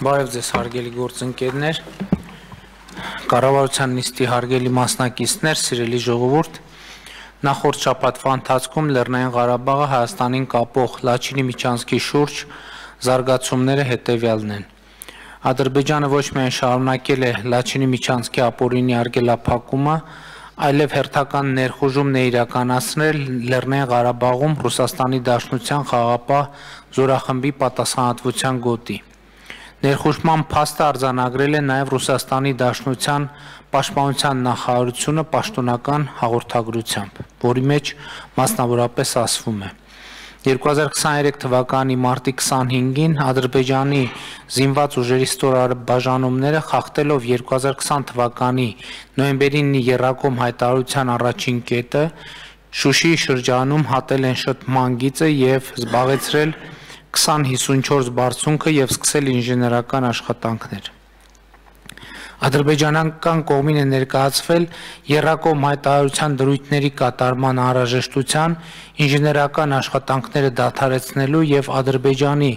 Բարև ձեզ հարգելի գործընկերներ, կառավարության նիստի հարգելի մասնակիցներ, սիրելի ժողովուրդ, նախորդ շաբաթվա ընթացքում Լեռնային Ղարաբաղը Հայաստանին կապող Լաչինի միջանցքի շուրջ զարգացումները հետևյալն են։ Ադրբեջանը ոչ միայն շարունակել է Լաչինի միջանցքի ապօրինի արգելափակումը, այլև հերթական ներխուժումն է իրականացրել Լեռնային Ղարաբաղում Ռուսաստանի Դաշնության խաղաղապահ զորախմբի պատասխանատվության գոտի։ Ներխուժման փաստը արձանագրել է նաև Ռուսաստանի Դաշնության պաշտպանության նախարարությունը պաշտոնական հաղորդագրությամբ, որի մեջ մասնավորապես ասվում է. 2023 թվականի մարտի 25-ին Ադրբեջանի զինված ուժերի ստորաբաժանումները խախտելով 2020 թվականի նոյեմբերի 9-ի եռակոմ հայտարարության առաջին կետը Շուշիի շրջանում հատել են շփման գիծը եւ զբաղեցրել 2054 բարձունքը եւ սկսել ինժեներական աշխատանքներ։ Ադրբեջանական կողմին է ներկայացվել եռակոմ հայտարարության դրույթների կատարման անհրաժեշտության, ինժեներական աշխատանքները դադարեցնելու եւ Ադրբեջանի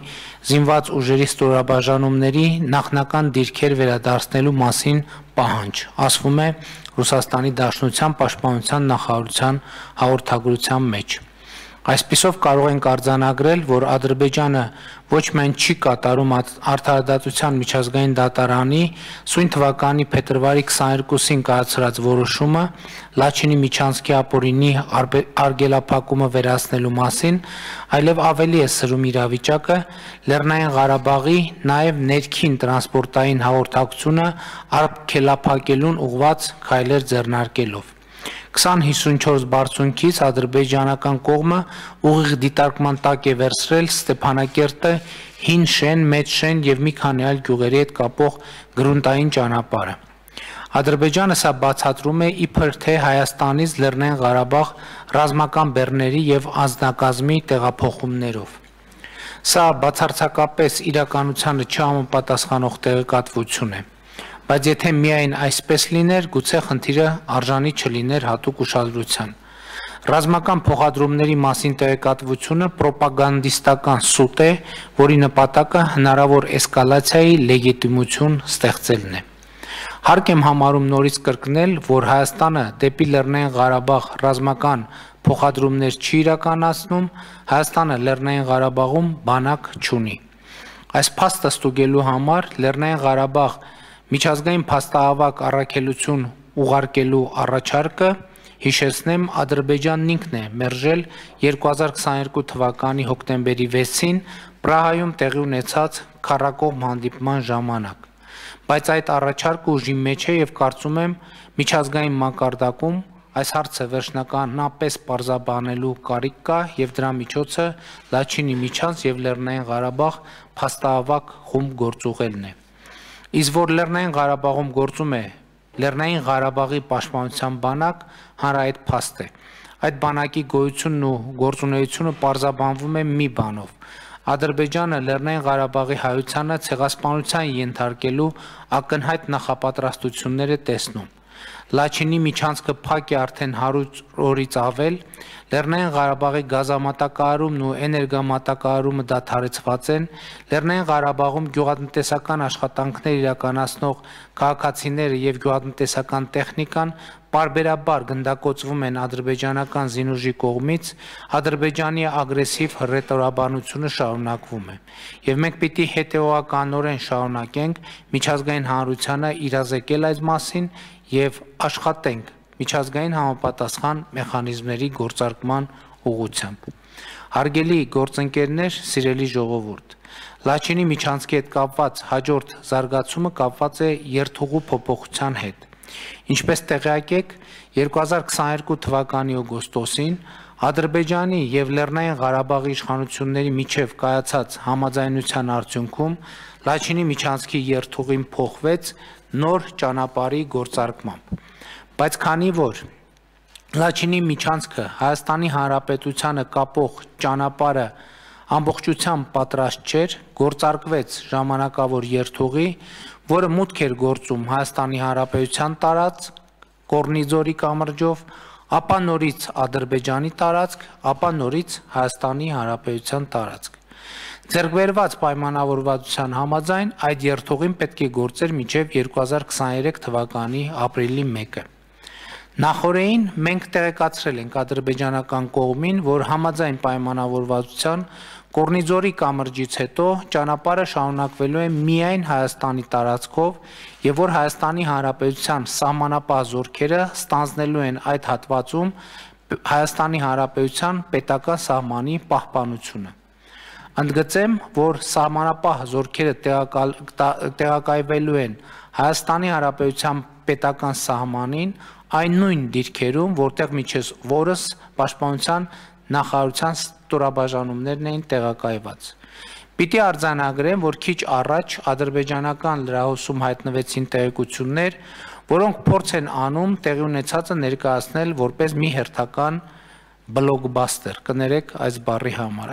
զինված ուժերի ստորաբաժանումների նախնական դիրքեր վերադարձնելու մասին պահանջ, ասվում է Ռուսաստանի Դաշնության պաշտպանության նախարարության հաղորդագրության մեջ։ Այսպիսով կարող ենք արձանագրել, որ Ադրբեջանը ոչ միայն չի կատարում Արդարադատության միջազգային դատարանի սույն թվականի փետրվարի 22-ին կայացրած որոշումը Լաչինի միջանցքի ապօրինի արգելափակումը վերացնելու մասին, այլև ավելի է սրում իրավիճակը Լեռնային Ղարաբաղի նաև ներքին տրանսպորտային հաղորդակցությունը արգելափակելուն ուղղված քայլեր ձեռնարկելով։ 2054 բարձունքից ադրբեջանական կողմը ուղիղ դիտարկման տակ է վերցրել Ստեփանակերտը, Հին Շեն, Մեծ Շեն եւ մի քանի այլ գյուղերի հետ կապող գրունտային ճանապարհը։ Ադրբեջանը սա բացատրում է իբր թե Հայաստանից Լեռնային Ղարաբաղ ռազմական բեռների եւ անձնակազմի տեղափոխումներով։ Սա բացարձակապես իրականությանը չհամապատասխանող տեղեկատվություն է։ Բայց եթե միայն այսպես լիներ, գուցե խնդիրը արժանի չլիներ հատուկ ուշադրության։ Ռազմական փոխադրումների մասին տեղեկատվությունը պրոպագանդիստական սուտ է, որի նպատակը հնարավոր էսկալացիայի լեգիտիմություն ստեղծելն է։ Հարկ եմ համարում նորից կրկնել, որ Հայաստանը դեպի Լեռնային Ղարաբաղ ռազմական փոխադրումներ չի իրականացնում, Հայաստանը Լեռնային Ղարաբաղում բանակ չունի։ Այս փաստը ստուգելու համար Լեռնային Ղարաբաղ միջազգային փաստահավաք առաքելություն ուղարկելու առաջարկը, հիշեցնեմ, Ադրբեջանն ինքն է մերժել 2022 թվականի հոկտեմբերի 6-ին Պրահայում տեղի ունեցած քառակողմ հանդիպման ժամանակ։ Բայց այդ առաջարկը ուժի մեջ է եւ կարծում եմ միջազգային մակարդակում այս հարցը վերջնականապես պարզաբանելու կարիք կա եւ դրա միջոցը Լաչինի միջանց եւ Լեռնային Ղարաբաղ փաստահավաք խումբ գործուղելն է։ Իսկ որ Լեռնային Ղարաբաղում գործում է Լեռնային Ղարաբաղի պաշտպանության բանակ, հանրահայտ փաստ է։ Այդ բանակի գոյությունն ու գործունեությունը պարզաբանվում է մի բանով։ Ադրբեջանը Լեռնային Ղարաբաղի հայությանը ցեղասպանության ենթարկելու ակնհայտ նախապատրաստություններ է տեսնում։ Լաչինի միջանցքը փակ է արդեն 100 օրից ավել, Լեռնային Ղարաբաղի գազամատակարարումն ու էներգամատակարարումը դադարեցված են, Լեռնային Ղարաբաղում գյուղատնտեսական աշխատանքներ իրականացնող քաղաքացիները եւ գյուղատնտեսական տեխնիկան պարբերաբար գնդակոծվում են ադրբեջանական զինուժի կողմից, Ադրբեջանի ագրեսիվ հռետորաբանությունը շարունակվում է։ Եվ մենք պիտի հետեւողականորեն շարունակենք միջազգային հանրությանը իրազեկել այս մասին եւ աշխատենք միջազգային համապատասխան մեխանիզմների գործարկման ուղղությամբ։ Հարգելի գործընկերներ, սիրելի ժողովուրդ, Լաչինի միջանցքի հետ կապված հաջորդ զարգացումը կապված է երթուղու փոփոխության հետ։ Ինչպես տեղյակ եք, 2022 թվականի օգոստոսին Ադրբեջանի եւ Լեռնային Ղարաբաղի իշխանությունների միջև կայացած համաձայնության արդյունքում Լաչինի միջանցքի երթուղին փոխվեց նոր ճանապարհի գործարկմամբ։ Բայց քանի որ Լաչինի միջանցքը Հայաստանի Հանրապետությանը կապող ճանապարհը ամբողջությամբ պատրաստ չէր, գործարկվեց ժամանակավոր երթուղի, որը մուտք էր գործում Հայաստանի Հանրապետության տարածք, Կորնիձորի կամրջով, ապա նորից Ադրբեջանի տարածք, ապա նորից Հայաստանի Հանրապետության տարածք։ Ձեռքբերված պայմանավորվածության համաձայն այդ երթուղին պետք է գործեր մինչև 2023 թվականի ապրիլի 1-ը։ Նախորդին մենք տեղեկացրել ենք ադրբեջանական կողմին, որ համաձայն պայմանավորվածության Կորնիձորի կամրջից հետո ճանապարհը շարունակվելու է միայն Հայաստանի տարածքով եւ որ Հայաստանի Հանրապետության սահմանապահ զորքերը ստանձնելու են այդ հատվածում Հայաստանի Հանրապետության պետական սահմանի պահպանությունը։ Ընդգծեմ, որ սահմանապահ զորքերը տեղակայվելու են Հայաստանի Հանրապետության պետական սահմանին այն նույն դիրքերում, որտեղ միջև որս պաշտպանության նախարարության ստորաբաժանումներն էին տեղակայված։ Պիտի արձանագրեմ, որ քիչ առաջ ադրբեջանական լրահոսում հայտնվեցին տեղեկություններ, որոնք փորձ են անում տեղի ունեցածը ներկայացնել որպես մի հերթական բլոկբաստեր, կներեք այս բառի համար։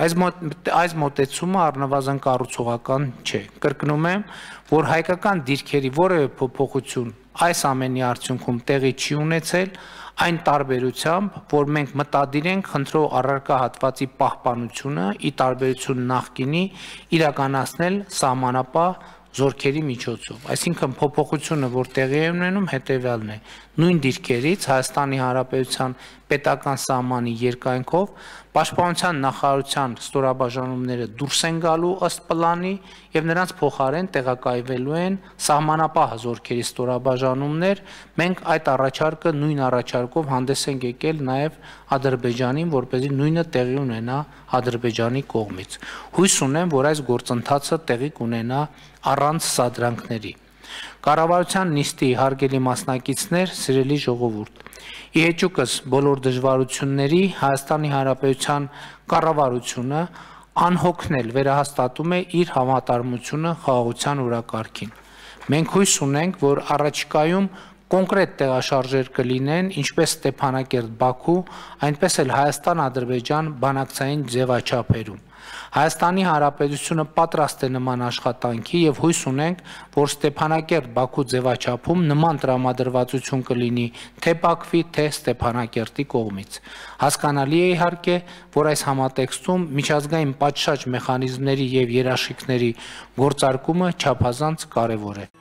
Այս մոտեցումը առնվազն կառուցողական չէ։ Կրկնում եմ, որ հայկական դիրքերի որևէ փոփոխություն այս ամենի արդյունքում տեղի չի ունեցել, այն տարբերությամբ, որ մենք մտադիր ենք խնդրող առարկա հատվածի պահպանությունը ի տարբերություն նախկինի իրականացնել սահմանապահ զորքերի միջոցով։ Այսինքն փոփոխությունը, որ տեղի է ունենում, հետևյալն է. նույն դիրքերից Հայաստանի Հանրապետության պետական սահմանի երկայնքով պաշտպանության նախարարության ստորաբաժանումները դուրս են գալու ըստ պլանի եւ նրանց փոխարեն տեղակայվելու են սահմանապահ զորքերի ստորաբաժանումներ։ Մենք այդ առաջարկը նույն առաջարկով հանդես ենք եկել նաեւ Ադրբեջանին, որպեսզի նույնը տեղի ունենա Ադրբեջանի կողմից։ Հույս ունեմ, որ այս գործընթացը տեղի կունենա առանց սադրանքների։ Կառավարության նիստի հարգելի մասնակիցներ, սիրելի ժողովուրդ, ի հեճուկս բոլոր դժվարությունների Հայաստանի Հանրապետության կառավարությունը անհոգնել վերահաստատում է իր համատարմությունը խաղաղության օրակարգին։ Մենք հույս ունենք, որ առաջիկայում կոնկրետ տեղաշարժեր կլինեն ինչպես Ստեփանակերտ-Բաքու, այնպես էլ Հայաստան-Ադրբեջան բանակցային ձևաչափերում։ Հայաստանի Հանրապետությունը պատրաստ է նման աշխատանքի եւ հույս ունենք, որ Ստեփանակերտ-Բաքու ձևաչափում նման տրամադրվածություն կլինի թե Բաքվի, թե Ստեփանակերտի կողմից։ Հասկանալի է իհարկե, որ այս համատեքստում միջազգային պատշաճ մեխանիզմների եւ երաշխիքների գործարկումը չափազանց կարեւոր է։